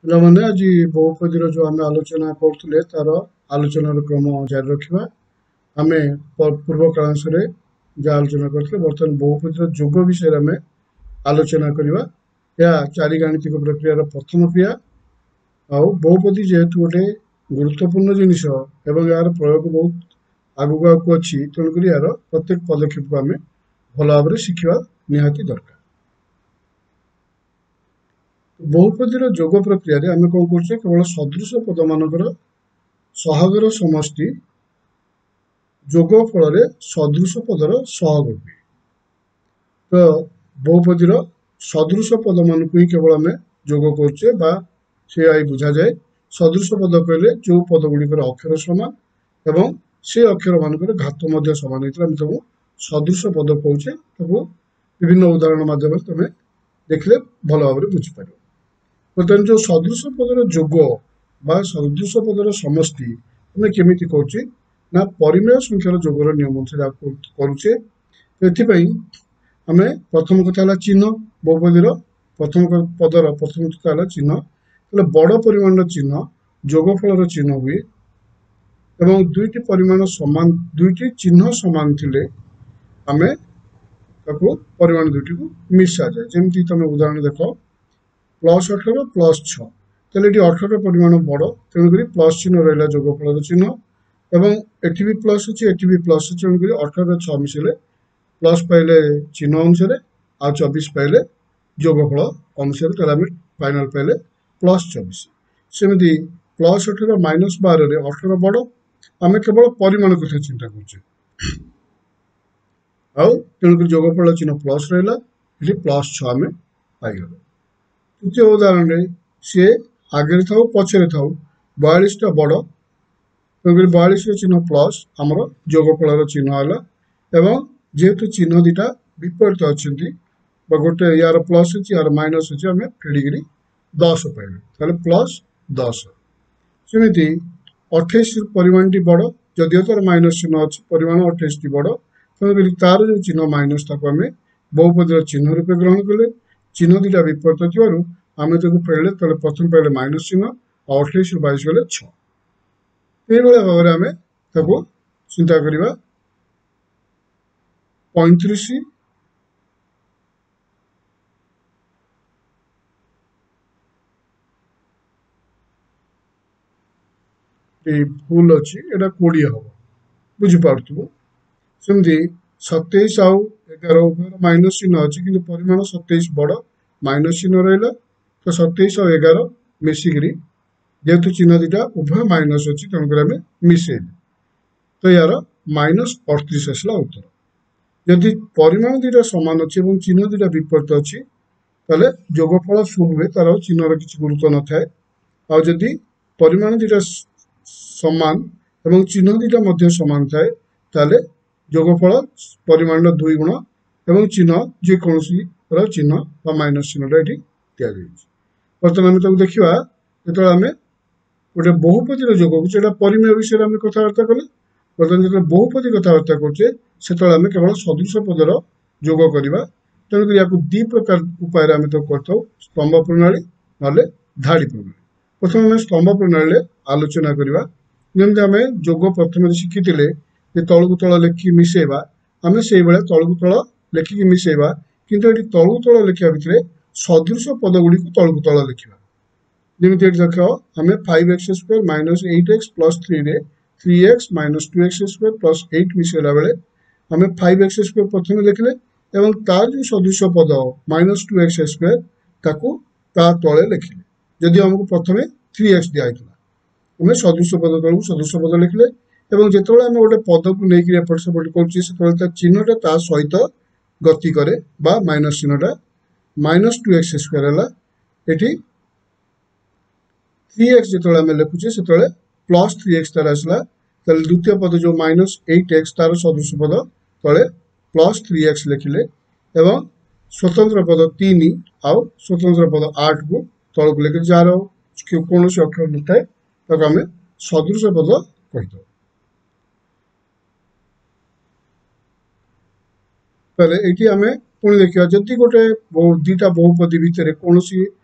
ପିଲାମାନେ, ଆଜି ବହୁପଦୀର ଯେଉଁ ଆମେ ଆଲୋଚନା କରୁଥିଲେ ତାର ଆଲୋଚନାର କ୍ରମ ଜାରି ରଖିବା। ଆମେ ପୂର୍ବ କାଳାଂଶରେ ଯାହା ଆଲୋଚନା କରିଥିଲେ, ବର୍ତ୍ତମାନ ବହୁପଦୀର ଯୋଗ ବିଷୟରେ ଆମେ ଆଲୋଚନା କରିବା। ଏହା ଚାରି ଗାଣିତିକ ପ୍ରକ୍ରିୟାର ପ୍ରଥମ କ୍ରିୟା। ଆଉ ବହୁପଦୀ ଯେହେତୁ ଗୋଟେ ଗୁରୁତ୍ୱପୂର୍ଣ୍ଣ ଜିନିଷ ଏବଂ ଏହାର ପ୍ରୟୋଗ ବହୁତ ଆଗକୁ ଆଗକୁ ଅଛି, ତେଣୁକରି ଏହାର ପ୍ରତ୍ୟେକ ପଦକ୍ଷେପକୁ ଆମେ ଭଲ ଭାବରେ ଶିଖିବା ନିହାତି ଦରକାର। ବହୁପଦୀର ଯୋଗ ପ୍ରକ୍ରିୟାରେ ଆମେ କଣ କରୁଛେ, କେବଳ ସଦୃଶ ପଦମାନଙ୍କର ସହଗର ସମଷ୍ଟି ଯୋଗ ଫଳରେ ସଦୃଶ ପଦର ସହଗ ହୁଏ। ତ ବହୁପଦୀର ସଦୃଶ ପଦମାନଙ୍କୁ ହିଁ କେବଳ ଆମେ ଯୋଗ କରୁଛେ ବା ସେୟା ହିଁ ବୁଝାଯାଏ। ସଦୃଶ ପଦ କହିଲେ ଯେଉଁ ପଦ ଗୁଡ଼ିକର ଅକ୍ଷର ସମାନ ଏବଂ ସେ ଅକ୍ଷର ମାନଙ୍କର ଘାତ ମଧ୍ୟ ସମାନ ହେଇଥିଲେ ଆମେ ତାକୁ ସଦୃଶ ପଦ କହୁଛେ। ତାକୁ ବିଭିନ୍ନ ଉଦାହରଣ ମାଧ୍ୟମରେ ତମେ ଦେଖିଲେ ଭଲ ଭାବରେ ବୁଝିପାରିବ। ବର୍ତ୍ତମାନ ଯେଉଁ ସଦୃଶ ପଦର ଯୋଗ ବା ସଦୃଶ ପଦର ସମଷ୍ଟି ଆମେ କେମିତି କରୁଛେ ନା ପରିମେୟ ସଂଖ୍ୟାର ଯୋଗର ନିୟମ ଅନୁସାରେ କରୁଛେ। ଏଥିପାଇଁ ଆମେ ପ୍ରଥମ କଥା ହେଲା ଚିହ୍ନ। ବହୁପଦୀର ପ୍ରଥମ ପଦର ପ୍ରଥମ କଥା ହେଲା ଚିହ୍ନ। ତାହେଲେ ବଡ଼ ପରିମାଣର ଚିହ୍ନ ଯୋଗଫଳର ଚିହ୍ନ ହୁଏ ଏବଂ ଦୁଇଟି ପରିମାଣ ସମାନ, ଦୁଇଟି ଚିହ୍ନ ସମାନ ଥିଲେ ଆମେ ତାକୁ ପରିମାଣ ଦୁଇଟିକୁ ମିଶାଯାଏ। ଯେମିତି ତମେ ଉଦାହରଣ ଦେଖ, +18 +6, ତାହେଲେ ଏଠି 18 ପରିମାଣ ବଡ଼, ତେଣୁକରି ପ୍ଲସ୍ ଚିହ୍ନ ରହିଲା ଯୋଗଫଳର ଚିହ୍ନ ଏବଂ ଏଠି ବି ପ୍ଲସ୍ ଅଛି, ଏଠି ବି ପ୍ଲସ୍ ଅଛି, ତେଣୁକରି 18 6 ମିଶିଲେ ପ୍ଲସ୍ ପାଇଲେ ଚିହ୍ନ ଅନୁସାରେ ଆଉ 24 ପାଇଲେ ଯୋଗଫଳ ଅନୁସାରେ, ତାହେଲେ ଆମେ ଫାଇନାଲ ପାଇଲେ +24। ସେମିତି +18 -12ରେ 18 ବଡ଼, ଆମେ କେବଳ ପରିମାଣ କଥା ଚିନ୍ତା କରୁଛେ ଆଉ ତେଣୁକରି ଯୋଗଫଳ ଚିହ୍ନ ପ୍ଲସ୍ ରହିଲା, ଏଠି +6 ଆମେ ପାଇଗଲେ। ତୃତୀୟ ଉଦାହରଣରେ ସିଏ ଆଗରେ ଥାଉ ପଛରେ ଥାଉ 42ଟା ବଡ଼, ତେଣୁକରି 42ର ଚିହ୍ନ ପ୍ଲସ୍ ଆମର ଯୋଗଫଳର ଚିହ୍ନ ହେଲା ଏବଂ ଯେହେତୁ ଚିହ୍ନ ଦୁଇଟା ବିପରୀତ ଅଛନ୍ତି ବା ଗୋଟେ ୟାର ପ୍ଲସ୍ ଅଛି ୟାର ମାଇନସ୍ ଅଛି, ଆମେ ଫେଡ଼ିକିରି 10 ପାଇଲେ, ତାହେଲେ +10। ସେମିତି 28 ପରିମାଣଟି ବଡ଼, ଯଦିଓ ତାର ମାଇନସ୍ ଚିହ୍ନ ଅଛି, ପରିମାଣ 28ଟି ବଡ଼, ତେଣୁକରି ତାର ଯେଉଁ ଚିହ୍ନ ମାଇନସ୍ ତାକୁ ଆମେ ବହୁପଦୀର ଚିହ୍ନ ରୂପେ ଗ୍ରହଣ କଲେ। ଚିହ୍ନ ଦୁଇଟା ବିପରୀତ ଥିବାରୁ ଆମେ ତାକୁ ଫେରିଲେ, ତାହେଲେ ପ୍ରଥମେ ପାଇଲେ ମାଇନସ୍ ଚିହ୍ନ ଆଉ 28ରୁ 22 ଗଲେ 6। ଏଇଭଳିଆ ଭାବରେ ଆମେ ତାକୁ ଚିନ୍ତା କରିବା। 35 ଏଇ ଭୁଲ ଅଛି, ଏଇଟା 20 ହବ, ବୁଝିପାରୁଥିବ। ସେମିତି 27 ଆଉ 11 ଉଭୟର ମାଇନସ୍ ଚିହ୍ନ ଅଛି, କିନ୍ତୁ ପରିମାଣ 27 ବଡ଼, ମାଇନସ୍ ଚିହ୍ନ ରହିଲା, ତ 27 ଆଉ 11 ମିଶିକିରି ଯେହେତୁ ଚିହ୍ନ ଦୁଇଟା ଉଭୟ ମାଇନସ୍ ଅଛି ତେଣୁକରି ଆମେ ମିଶେଇଲେ, ତ ୟାର -38 ଆସିଲା ଉତ୍ତର। ଯଦି ପରିମାଣ ଦୁଇଟା ସମାନ ଅଛି ଏବଂ ଚିହ୍ନ ଦୁଇଟା ବିପରୀତ ଅଛି ତାହେଲେ ଯୋଗଫଳ ଶୂନ ହୁଏ, ତାର ଚିହ୍ନର କିଛି ଗୁରୁତ୍ୱ ନଥାଏ। ଆଉ ଯଦି ପରିମାଣ ଦୁଇଟା ସମାନ ଏବଂ ଚିହ୍ନ ଦୁଇଟା ମଧ୍ୟ ସମାନ ଥାଏ ତାହେଲେ ଯୋଗଫଳ ପରିମାଣର 2 ଗୁଣ ଏବଂ ଚିହ୍ନ ଯେକୌଣସିର ଚିହ୍ନ ବା ମାଇନସ୍ ଚିହ୍ନଟା ଏଠି ଦିଆଯାଇଛି। ବର୍ତ୍ତମାନ ଆମେ ତାକୁ ଦେଖିବା, ଯେତେବେଳେ ଆମେ ଗୋଟେ ବହୁପଦୀର ଯୋଗକୁ, ସେଇଟା ପରିମେୟ ବିଷୟରେ ଆମେ କଥାବାର୍ତ୍ତା କଲେ, ବର୍ତ୍ତମାନ ଯେତେବେଳେ ବହୁପଦୀ କଥାବାର୍ତ୍ତା କରୁଛେ ସେତେବେଳେ ଆମେ କେବଳ ସଦୃଶ ପଦର ଯୋଗ କରିବା। ତେଣୁକରି ୟାକୁ ଦୁଇ ପ୍ରକାର ଉପାୟରେ ଆମେ ତାକୁ କରିଥାଉ, ସ୍ତମ୍ଭ ପ୍ରଣାଳୀ ନହେଲେ ଧାଡ଼ି ପ୍ରଣାଳୀ। ପ୍ରଥମେ ଆମେ ସ୍ତମ୍ଭ ପ୍ରଣାଳୀରେ ଆଲୋଚନା କରିବା। ଯେମିତି ଆମେ ଯୋଗ ପ୍ରଥମେ ଶିଖିଥିଲେ ଯେ ତଳକୁ ତଳ ଲେଖିକି ମିଶେଇବା, ଆମେ ସେଇଭଳିଆ ତଳକୁ ତଳ ଲେଖିକି ମିଶେଇବା, କିନ୍ତୁ ଏଠି ତଳକୁ ତଳ ଲେଖିବା ଭିତରେ ସଦୃଶ ପଦ ଗୁଡ଼ିକୁ ତଳକୁ ତଳ ଲେଖିବା। ଯେମିତି ଏଠି ଦେଖ, ଆମେ 5x² -8x +3ରେ 3x -2x² +8 ମିଶେଇଲା ବେଳେ ଆମେ 5x² ପ୍ରଥମେ ଲେଖିଲେ ଏବଂ ତାର ଯେଉଁ ସଦୃଶ ପଦ -2x² ତାକୁ ତା ତଳେ ଲେଖିଲେ। ଯଦି ଆମକୁ ପ୍ରଥମେ 3x ଦିଆହେଇଥିଲା, ଆମେ ସଦୃଶ ପଦ ତଳକୁ ସଦୃଶ ପଦ ଲେଖିଲେ ଏବଂ ଯେତେବେଳେ ଆମେ ଗୋଟେ ପଦକୁ ନେଇକିରି ଏପଟ ସେପଟ କରୁଛେ ସେତେବେଳେ ତା ଚିହ୍ନଟା ତା ସହିତ ଗତି କରେ ବା ମାଇନସ୍ ଚିହ୍ନଟା -2x² ହେଲା। ଏଠି 3x ଯେତେବେଳେ ଆମେ ଲେଖୁଛେ ସେତେବେଳେ +3x ତାର ଆସିଲା, ତାହେଲେ ଦ୍ୱିତୀୟ ପଦ ଯେଉଁ -8x ତାର ସଦୃଶ ପଦ ତଳେ +3x ଲେଖିଲେ ଏବଂ ସ୍ୱତନ୍ତ୍ର ପଦ 3 ଆଉ ସ୍ୱତନ୍ତ୍ର ପଦ 8କୁ ତଳକୁ ଲେଖିଲେ, ଯାହାର କୌଣସି ଅକ୍ଷର ନଥାଏ ତାକୁ ଆମେ ସଦୃଶ ପଦ କହିଥାଉ। ତାହେଲେ ଏଇଠି ଆମେ ପୁଣି ଦେଖିବା, ଯଦି ଗୋଟେ ଦୁଇଟା ବହୁପଦୀ ଭିତରେ କୌଣସି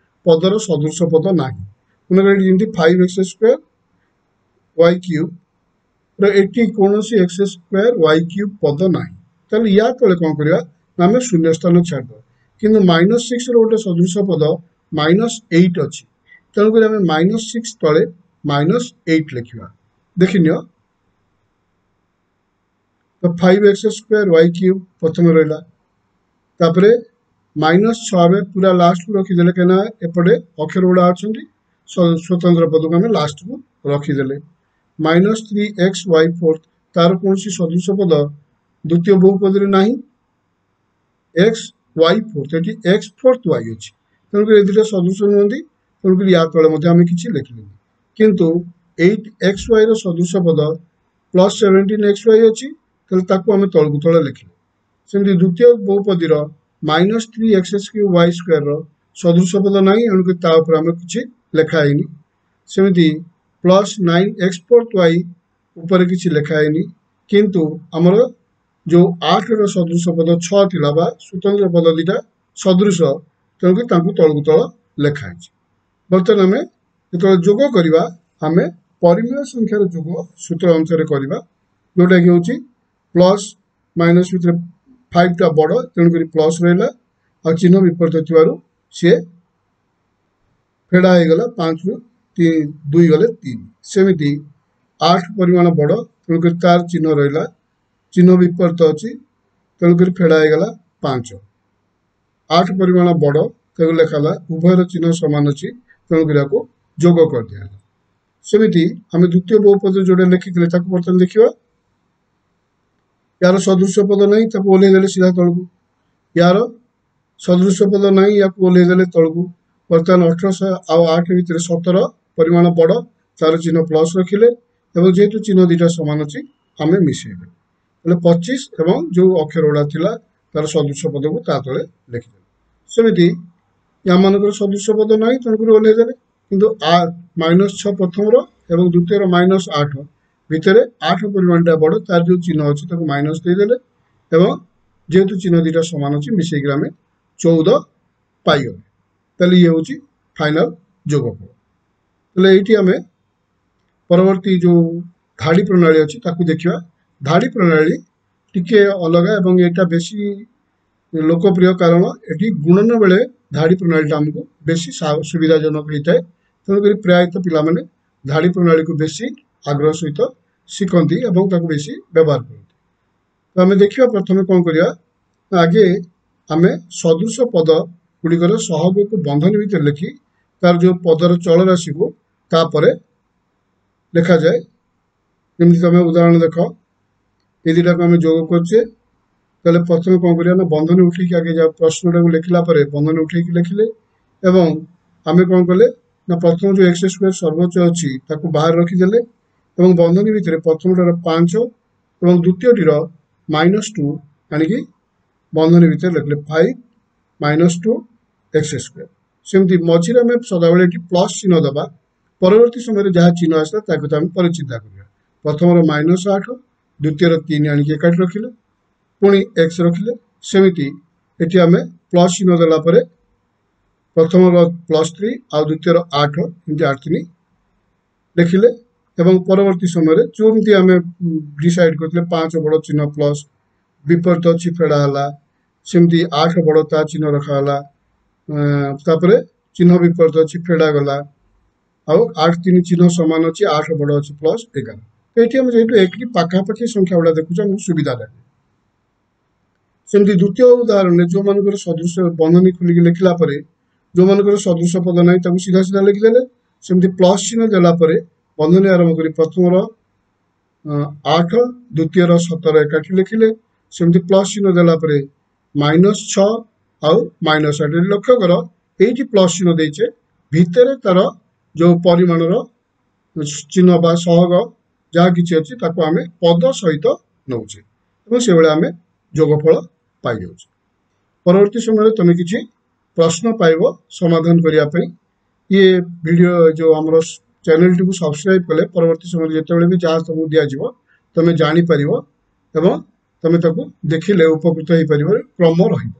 ପଦର ସଦୃଶ ପଦ ନାହିଁ, ମନେକର ଏଠି ଯେମିତି ଫାଇଭ୍ ଏକ୍ସ ସ୍କୋୟାର ୱାଇ କ୍ୟୁବ୍ର ଏଠି କୌଣସି ଏକ୍ସ ସ୍କୋୟାର ୱାଇ କ୍ୟୁବ୍ ପଦ ନାହିଁ, ତାହେଲେ ୟା ତଳେ କ'ଣ କରିବା ନା ଆମେ ଶୂନ୍ୟ ସ୍ଥାନ ଛାଡ଼ିଦେବା। କିନ୍ତୁ ମାଇନସ୍ ସିକ୍ସର ଗୋଟେ ସଦୃଶ ପଦ ମାଇନସ୍ ଏଇଟ୍ ଅଛି, ତେଣୁକରି ଆମେ ମାଇନସ୍ ସିକ୍ସ ତଳେ ମାଇନସ୍ ଏଇଟ୍ ଲେଖିବା। ଦେଖିନିଅ ତ five x square y cube ପ୍ରଥମେ ରହିଲା, ତାପରେ ମାଇନସ୍ ଛଅ ଆମେ ପୁରା ଲାଷ୍ଟକୁ ରଖିଦେଲେ, କାହିଁକିନା ଏପଟେ ଅକ୍ଷର ଗୁଡ଼ା ଅଛନ୍ତି, ସ୍ୱତନ୍ତ୍ର ପଦକୁ ଆମେ ଲାଷ୍ଟକୁ ରଖିଦେଲେ। Minus three x y fourth, ତାର କୌଣସି ସଦୃଶ ପଦ ଦ୍ୱିତୀୟ ବହୁପଦରେ ନାହିଁ, ଏକ୍ସ ୱାଇ ଫୋର୍ଥ, ଏଠି ଏକ୍ସ ଫୋର୍ଥ ୱାଇ ଅଛି, ତେଣୁକରି ଏ ଦୁଇଟା ସଦୃଶ ନୁହନ୍ତି, ତେଣୁକରି ୟା ତଳେ ମଧ୍ୟ ଆମେ କିଛି ଲେଖିଲେନି। କିନ୍ତୁ ଏଇଟ୍ ଏକ୍ସ ୱାଇର ସଦୃଶ ପଦ ପ୍ଲସ୍ ସେଭେଣ୍ଟିନ୍ ଏକ୍ସ ୱାଇ ଅଛି, ତାହେଲେ ତାକୁ ଆମେ ତଳକୁ ତଳେ ଲେଖିଲେ। ସେମିତି ଦ୍ୱିତୀୟ ବହୁପଦୀର minus three x cube y ସ୍କୋୟାରର ସଦୃଶ ପଦ ନାହିଁ, ଏଣୁକରି ତା ଉପରେ ଆମେ କିଛି ଲେଖା ହେଇନି। ସେମିତି plus nine x fourth y ଉପରେ କିଛି ଲେଖା ହେଇନି, କିନ୍ତୁ ଆମର ଯେଉଁ ଆଠର ସଦୃଶ ପଦ ଛଅ ଥିଲା ବା ସ୍ୱତନ୍ତ୍ର ପଦ ଦୁଇଟା ସଦୃଶ, ତେଣୁକରି ତାଙ୍କୁ ତଳକୁ ତଳ ଲେଖା ହେଇଛି। ବର୍ତ୍ତମାନ ଆମେ ଯେତେବେଳେ ଯୋଗ କରିବା, ଆମେ ପରିମେୟ ସଂଖ୍ୟାର ଯୋଗ ସୂତ୍ର ଅନୁସାରେ କରିବା, ଯେଉଁଟାକି ହେଉଛି ପ୍ଲସ୍ ମାଇନସ୍ ଭିତରେ ଫାଇଭଟା ବଡ଼, ତେଣୁକରି ପ୍ଲସ୍ ରହିଲା, ଆଉ ଚିହ୍ନ ବିପରୀତ ଥିବାରୁ ସିଏ ଫେଡ଼ା ହେଇଗଲା, ପାଞ୍ଚରୁ ଦୁଇ ଗଲେ ତିନି। ସେମିତି ଆଠ ପରିମାଣ ବଡ଼, ତେଣୁକରି ତାର ଚିହ୍ନ ରହିଲା, ଚିହ୍ନ ବିପରୀତ ଅଛି, ତେଣୁକରି ଫେଡ଼ା ହେଇଗଲା ପାଞ୍ଚ। ଆଠ ପରିମାଣ ବଡ଼, ତାକୁ ଲେଖା ହେଲା, ଉଭୟର ଚିହ୍ନ ସମାନ ଅଛି, ତେଣୁକରି ଆକୁ ଯୋଗ କରିଦିଆହେଲା। ସେମିତି ଆମେ ଦ୍ୱିତୀୟ ବହୁପଦ ଯେଉଁଟା ଲେଖିଥିଲେ ତାକୁ ବର୍ତ୍ତମାନ ଦେଖିବା। ୟାର ସଦୃଶ ପଦ ନାହିଁ, ତାକୁ ଓହ୍ଲେଇ ଦେଲେ ସିଧା ତଳକୁ। ୟାର ସଦୃଶ ପଦ ନାହିଁ, ୟାକୁ ଓହ୍ଲେଇ ଦେଲେ ତଳକୁ। ବର୍ତ୍ତମାନ 18 ଆଉ 8 ଭିତରେ 17 ପରିମାଣ ବଡ଼, ତାର ଚିହ୍ନ ପ୍ଲସ୍ ରଖିଲେ, ଏବଂ ଯେହେତୁ ଚିହ୍ନ ଦୁଇଟା ସମାନ ଅଛି ଆମେ ମିଶେଇଲେ, ତାହେଲେ 25 ଏବଂ ଯେଉଁ ଅକ୍ଷର ଗୁଡ଼ା ଥିଲା ତାର ସଦୃଶ ପଦକୁ ତା ତଳେ ଲେଖିଦେଲେ। ସେମିତି ୟାମାନଙ୍କର ସଦୃଶ ପଦ ନାହିଁ, ତେଣୁକରି ଓହ୍ଲେଇ ଦେଲେ, କିନ୍ତୁ ମାଇନସ୍ 6 ପ୍ରଥମର ଏବଂ ଦ୍ୱିତୀୟର ମାଇନସ୍ 8 ଭିତରେ 8 ପରିମାଣଟା ବଡ଼, ତାର ଯେଉଁ ଚିହ୍ନ ଅଛି ତାକୁ ମାଇନସ୍ ଦେଇଦେଲେ, ଏବଂ ଯେହେତୁ ଚିହ୍ନ ଦୁଇଟା ସମାନ ଅଛି ମିଶେଇକି ଆମେ 14 ପାଇଗଲେ। ତାହେଲେ ଇଏ ହେଉଛି ଫାଇନାଲ ଯୋଗଫଳ। ତାହେଲେ ଏଇଠି ଆମେ ପରବର୍ତ୍ତୀ ଯେଉଁ ଧାଡ଼ି ପ୍ରଣାଳୀ ଅଛି ତାକୁ ଦେଖିବା। ଧାଡ଼ି ପ୍ରଣାଳୀ ଟିକେ ଅଲଗା ଏବଂ ଏଇଟା ବେଶୀ ଲୋକପ୍ରିୟ, କାରଣ ଏଠି ଗୁଣନ ବେଳେ ଧାଡ଼ି ପ୍ରଣାଳୀଟା ଆମକୁ ବେଶୀ ସୁବିଧାଜନକ ହେଇଥାଏ, ତେଣୁକରି ପ୍ରାୟତଃ ପିଲାମାନେ ଧାଡ଼ି ପ୍ରଣାଳୀକୁ ବେଶୀ ଆଗ୍ରହ ସହିତ ଶିଖନ୍ତି ଏବଂ ତାକୁ ବେଶୀ ବ୍ୟବହାର କରନ୍ତି। ତ ଆମେ ଦେଖିବା ପ୍ରଥମେ କ'ଣ କରିବା, ଆଗେ ଆମେ ସଦୃଶ ପଦ ଗୁଡ଼ିକର ସହଗକୁ ବନ୍ଧନୀ ଭିତରେ ଲେଖି ତାର ଯେଉଁ ପଦର ଚଳରାଶିକୁ ତାପରେ ଲେଖାଯାଏ। ଯେମିତି ତମେ ଉଦାହରଣ ଦେଖ, ଏ ଦୁଇଟାକୁ ଆମେ ଯୋଗ କରୁଛେ, ତାହେଲେ ପ୍ରଥମେ କ'ଣ କରିବା ନା ବନ୍ଧନୀ ଉଠେଇକି ଆଗେ ଯାହା ପ୍ରଶ୍ନଟାକୁ ଲେଖିଲା ପରେ ବନ୍ଧନୀ ଉଠେଇକି ଲେଖିଲେ, ଏବଂ ଆମେ କ'ଣ କଲେ ନା ପ୍ରଥମ ଯେଉଁ ଏକ୍ସ ସ୍କୋୟାର ସର୍ବୋଚ୍ଚ ଅଛି ତାକୁ ବାହାରେ ରଖିଦେଲେ, ଏବଂ ବନ୍ଧନୀ ଭିତରେ ପ୍ରଥମଟାର 5 ଏବଂ ଦ୍ୱିତୀୟଟିର -2 ଆଣିକି ବନ୍ଧନୀ ଭିତରେ ଲେଖିଲେ 5 -2 ଏକ୍ସ ସ୍କୋୟାର। ସେମିତି ମଝିରେ ଆମେ ସଦାବେଳେ ଏଠି ପ୍ଲସ୍ ଚିହ୍ନ ଦେବା, ପରବର୍ତ୍ତୀ ସମୟରେ ଯାହା ଚିହ୍ନ ଆସିଲା ତାକୁ ତ ଆମେ ପରେ ଚିନ୍ତା କରିବା। ପ୍ରଥମର -8, ଦ୍ୱିତୀୟର 3 ଆଣିକି ଏକାଠି ରଖିଲେ, ପୁଣି ଏକ୍ସ ରଖିଲେ। ସେମିତି ଏଠି ଆମେ ପ୍ଲସ୍ ଚିହ୍ନ ଦେଲା ପରେ ପ୍ରଥମର +3 ଆଉ ଦ୍ୱିତୀୟର 8, ଏମିତି 8 3 ଲେଖିଲେ, ଏବଂ ପରବର୍ତ୍ତୀ ସମୟରେ ଯେମିତି ଆମେ ଡିସାଇଡ୍ କରିଥିଲେ 5 ବଡ଼ ଚିହ୍ନ ପ୍ଲସ୍ ବିପରୀତ ଅଛି ଫେଡ଼ା ହେଲା, ସେମିତି 8 ବଡ଼ ତା ଚିହ୍ନ ରଖାଗଲା, ତାପରେ ଚିହ୍ନ ବିପରୀତ ଅଛି ଫେଡ଼ା ଗଲା, ଆଉ 8 3 ଚିହ୍ନ ସମାନ ଅଛି, 8 ବଡ଼ ଅଛି ପ୍ଲସ୍ 11। ତ ଏଠି ଆମେ ଯେହେତୁ ଏଠି ପାଖାପାଖି ସଂଖ୍ୟା ଗୁଡ଼ା ଦେଖୁଛୁ ଆମକୁ ସୁବିଧା ଲାଗେ। ସେମିତି ଦ୍ୱିତୀୟ ଉଦାହରଣରେ ଯେଉଁମାନଙ୍କର ସଦୃଶ ବନ୍ଧନୀ ଖୋଲିକି ଲେଖିଲା ପରେ ଯେଉଁମାନଙ୍କର ସଦୃଶ ପଦ ନାହିଁ ତାକୁ ସିଧା ସିଧା ଲେଖିଦେଲେ, ସେମିତି ପ୍ଲସ୍ ଚିହ୍ନ ଦେଲା ପରେ ବନ୍ଧନୀ ଆରମ୍ଭ କରି ପ୍ରଥମର 8, ଦ୍ୱିତୀୟର 17 ଏକାଠି ଲେଖିଲେ, ସେମିତି ପ୍ଲସ୍ ଚିହ୍ନ ଦେଲା ପରେ -6 ଆଉ -8। ଲକ୍ଷ୍ୟ କର ଏଇଠି ପ୍ଲସ୍ ଚିହ୍ନ ଦେଇଛେ, ଭିତରେ ତାର ଯେଉଁ ପରିମାଣର ଚିହ୍ନ ବା ସହଗ ଯାହା କିଛି ଅଛି ତାକୁ ଆମେ ପଦ ସହିତ ନେଉଛେ, ଏବଂ ସେଭଳି ଆମେ ଯୋଗଫଳ ପାଇଯାଉଛେ। ପରବର୍ତ୍ତୀ ସମୟରେ ତମେ କିଛି ପ୍ରଶ୍ନ ପାଇବ ସମାଧାନ କରିବା ପାଇଁ। ଇଏ ଭିଡ଼ିଓ ଯେଉଁ ଆମର ଚ୍ୟାନେଲଟିକୁ ସବସ୍କ୍ରାଇବ୍ କଲେ ପରବର୍ତ୍ତୀ ସମୟରେ ଯେତେବେଳେ ବି ଯାହା ତମକୁ ଦିଆଯିବ ତମେ ଜାଣିପାରିବ ଏବଂ ତମେ ତାକୁ ଦେଖିଲେ ଉପକୃତ ହେଇପାରିବ, କ୍ରମ ରହିବ।